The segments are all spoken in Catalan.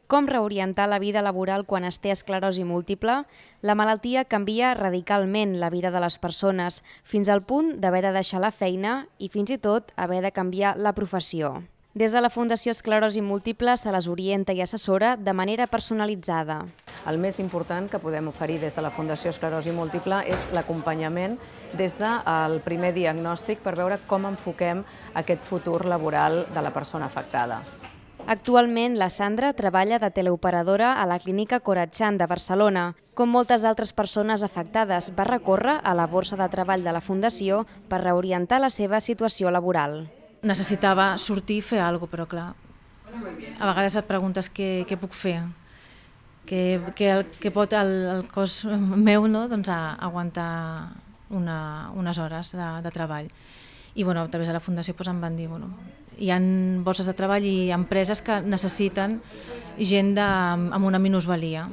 Com reorientar la vida laboral quan es té esclerosi múltiple? La malaltia canvia radicalment la vida de les persones, fins al punt d'haver de deixar la feina i fins i tot haver de canviar la professió. Des de la Fundació Esclerosi Múltiple se les orienta i assessora de manera personalitzada. El més important que podem oferir des de la Fundació Esclerosi Múltiple és l'acompanyament des del primer diagnòstic per veure com enfoquem aquest futur laboral de la persona afectada. Actualment, la Sandra treballa de teleoperadora a la Clínica Coratxan de Barcelona. Com moltes altres persones afectades, va recórrer a la borsa de treball de la Fundació per reorientar la seva situació laboral. Necessitava sortir i fer alguna cosa, però clar, a vegades et preguntes què puc fer, què pot el cos meu aguantar unes hores de treball. I a través de la Fundació em van dir hi ha borses de treball i empreses que necessiten gent amb una minusvalia.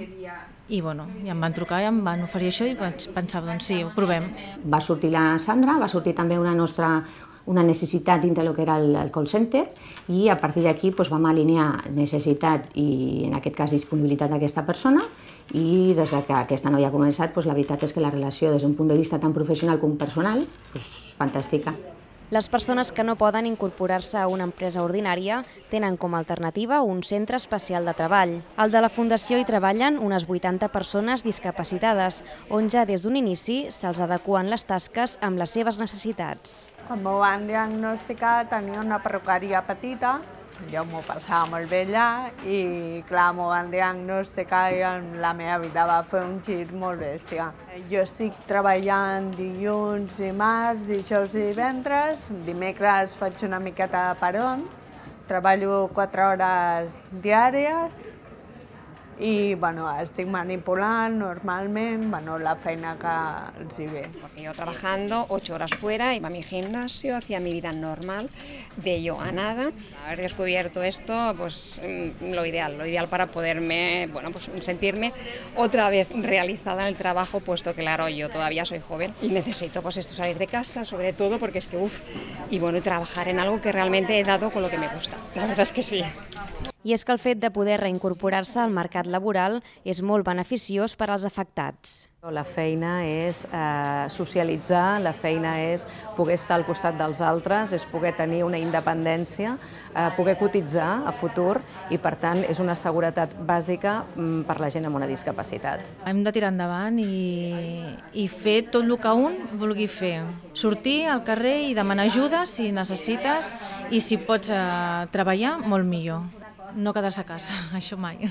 I em van trucar i em van oferir això i pensava, doncs sí, ho provem. Va sortir la Sandra, va sortir també una necessitat dintre del que era el call center i a partir d'aquí vam alinear necessitat i en aquest cas disponibilitat d'aquesta persona i des que aquesta noia ha començat la veritat és que la relació des d'un punt de vista tant professional com personal fantàstica. Les persones que no poden incorporar-se a una empresa ordinària tenen com a alternativa un centre especial de treball. Al de la Fundació hi treballen unes 80 persones discapacitades, on ja des d'un inici se'ls adeqüen les tasques amb les seves necessitats. Quan m'ho van diagnosticar tenia una perruqueria petita, jo m'ho passava molt bé allà i clar, m'ho van diagnosticar i la meva vida va fer un gir molt bèstia. Jo estic treballant dilluns, dimarts, dijous i divendres, dimecres faig una miqueta de peron, treballo 4 hores diàries i estic manipulant normalment la feina que els hi ve. Porque yo trabajando 8 horas fuera, iba a mi gimnasio, hacía mi vida normal, de yo a nada. Haber descubierto esto, lo ideal para poderme, sentirme otra vez realizada en el trabajo, puesto que claro, yo todavía soy joven y necesito salir de casa, sobre todo porque es que y trabajar en algo que realmente he dado con lo que me gusta. La verdad es que sí. I és que el fet de poder reincorporar-se al mercat laboral és molt beneficiós per als afectats. La feina és socialitzar, la feina és poder estar al costat dels altres, és poder tenir una independència, poder cotitzar a futur i, per tant, és una seguretat bàsica per la gent amb una discapacitat. Hem de tirar endavant i fer tot el que un vulgui fer. Sortir al carrer i demanar ajuda si necessites i si pots treballar, molt millor. No quedar-se a casa, això mai.